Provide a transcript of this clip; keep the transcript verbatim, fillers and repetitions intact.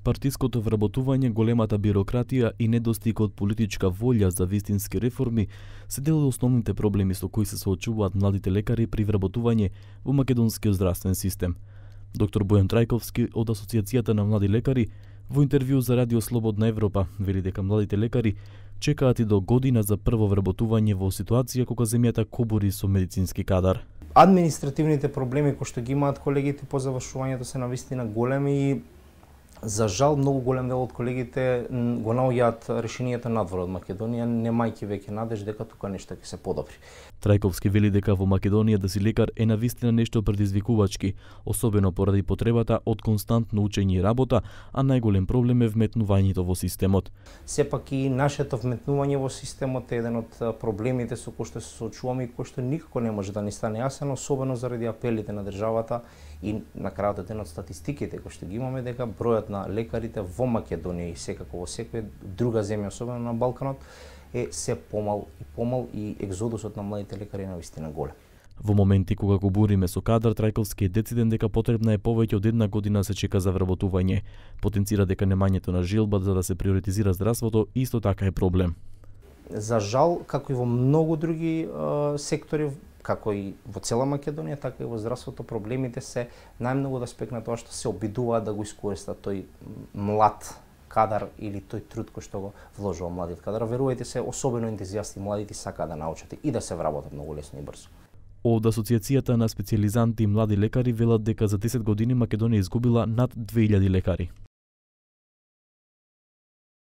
Партиското вработување, големата бирократија и недостигот политичка волја за вистински реформи се дел од основните проблеми со кои се соочуваат младите лекари при вработување во македонскиот здравствен систем. Доктор Бојан Трајковски од Асоциацијата на млади лекари во интервју за Радио Слободна Европа вели дека младите лекари чекаат и до година за прво вработување во ситуација кога земјата кобури со медицински кадар. Административните проблеми кои што ги имаат колегите по завршувањето се навистина големи и за жал многу голем дел од колегите го наоѓаат решенијата надвор од Македонија, немајќи веќе надеж дека тука нешто ќе се подобри. Трајковски вели дека во Македонија да си лекар е навистина нешто предизвикувачки, особено поради потребата од константно учење и работа, а најголем проблем е вметнувањето во системот. Сепак и нашето вметнување во системот е еден од проблемите со кои што се соочуваме и кој што никако не може да ни стане јасен, особено заради апелите на државата и на крајот еден од статистиките кои што ги имаме дека бројот на лекарите во Македонија и секако во секоја друга земја, особено на Балканот, е се помал и помал и екзодусот на младите лекари е навистина голем. Во моменти кога го буриме со кадар, Трајковски е дециден дека потребна е повеќе од една година се чека за вработување. Потенцира дека немањето на жилба за да се приоритизира здравството исто така е проблем. За жал, како и во многу други е, сектори, како и во цела Македонија, така и во здравството, проблемите се најмногу од аспект на тоа што се обидуваат да го искористат тој млад кадар или тој труд кој што го вложува младиот кадар. Верувајте се, особено ентузијасти младите сакаат да научат и да се вработат многу лесно и брзо. Од Асоциацијата на специјализанти и млади лекари велат дека за десет години Македонија изгубила над две илјади лекари.